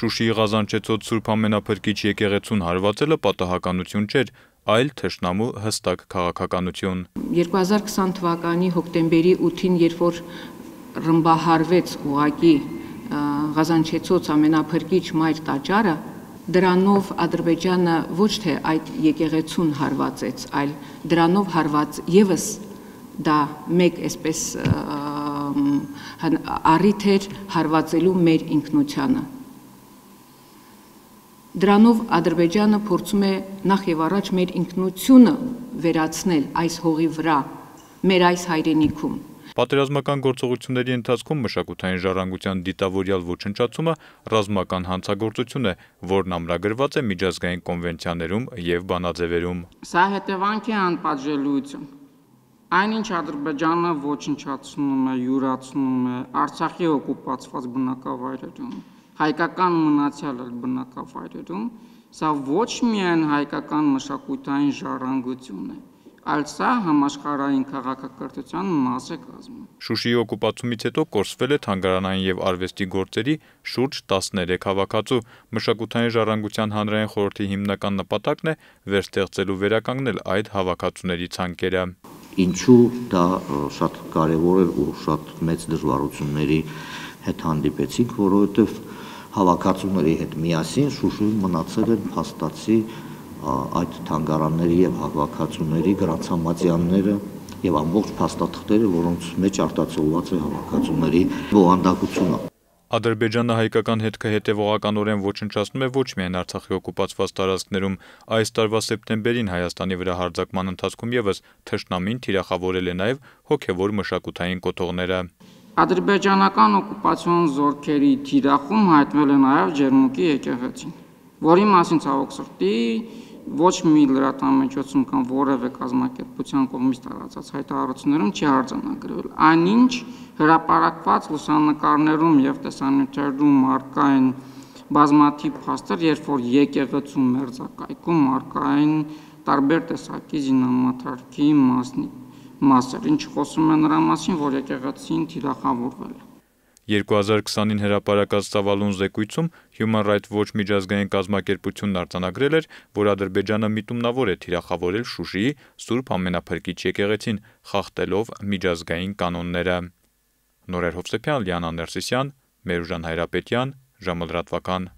Շուշիի Ղազանչեցոտ Սուրբ Ամենափրկիչ եկեղեցուն հարվածելը պատահականություն չէր, այլ թշնամու հստակ քաղաքականություն։ 2020 թվականի հոկտեմբերի 8-ին, երբ որ ռմբահարվեց ուղակի Ղազանչեցոտ Ամենափրկիչ Մայր տաճարը, դրանով Ադրբեջանը ոչ թե այդ եկեղեցուն հարվածեց, այլ դրանով հարված ևս դա մեկ այսպես առիթ էր հարվածելու մեր ինքնությանը։ Դրանով Ադրբեջանը փորձում է նախ եւ առաջ մեր ինքնությունը վերացնել այս հողի վրա, մեր այս հայրենիքում։ Պատերազմական գործողությունների ընթացքում մշակութային ժառանգության դիտավորյալ ոչնչացումը ռազմական հանցագործություն է, որն ամրագրված է միջազգային կոնվենցիաներում եւ բանաձևերում։ Սա հետևանք է անպատժելիություն։ Այնինչ Ադրբեջանը ոչնչացնում է, յուրացնում է Արցախի օկուպացված բնակավայրերում, հայկական մնացյալ բնակավայրերում, սա ոչ միայն հայկական մշակութային ժառանգություն է, այլ սա համաշխարհային քաղաքակրթության մաս է կազմում։ Շուշիի օկուպացումից հետո կորսվել է թանգարանային եւ արվեստի գործերի շուրջ 13 հավաքածու։ Մշակութային ժառանգության հանրային խորհրդի հիմնական նպատակն է վերստեղծել ու վերականգնել այդ հավաքածուների ցանկերը։ Ինչու դա շատ կարևոր էր ու շատ մեծ դժվարությունների հետ հանդիպեցինք, որովհետև հավաքածուների հետ միասին Շուշիում մնացել են փաստացի այդ թանգարանների եւ հավաքածուների գրանցամատյանները եւ ամբողջ փաստաթղթերը, որոնց մեջ արտացոլված է հավաքածուների բովանդակությունը։ Ադրբեջանը հայկական հետքը հետևողականորեն ոչնչացնում է ոչ միայն Արցախի օկուպացված տարածքներում, այս տարվա սեպտեմբերին Հայաստանի վրա հարձակման ընթացքում եւս թշնամին թիրախավորել է նաեւ հոգեվոր մշակութային կոթողները։ Ադրբեջանական օկուպացիոն զորքերի թիրախում հայտնվել է նաեւ Ջերմուկի եկեղեցին, որի մասին ցավոք սրտի ոչ մի լրատվամիջոցում կամ որևէ կազմակերպության կողմից տարածած հայտարարություններում չի արձանագրվել։ Այնինչ հրապարակված լուսանկարներում եւ տեսանյութերում առկա են բազմաթիվ փաստեր, երբ որ եկեղեցու մերձակայքում առկա են տարբեր տեսակի զինամթերքի մասեր, ինչ խոսում է նրա մասին, որ եկեղեցին թիրախավորվել է։ 2020-ին հրապարակած ծավալուն զեկույցում Human Rights Watch միջազգային կազմակերպությունն արձանագրել էր, որ Ադրբեջանը միտումնավոր է թիրախավորել Շուշիի Սուրբ Ամենափրկիչ եկեղեցին, խախտելով միջազգային կանոնները։ Նորեր Հովսեփյան, Լիանա Ներսիսյան, Մերուժան Հայրապետյան, ժամը լրատվական։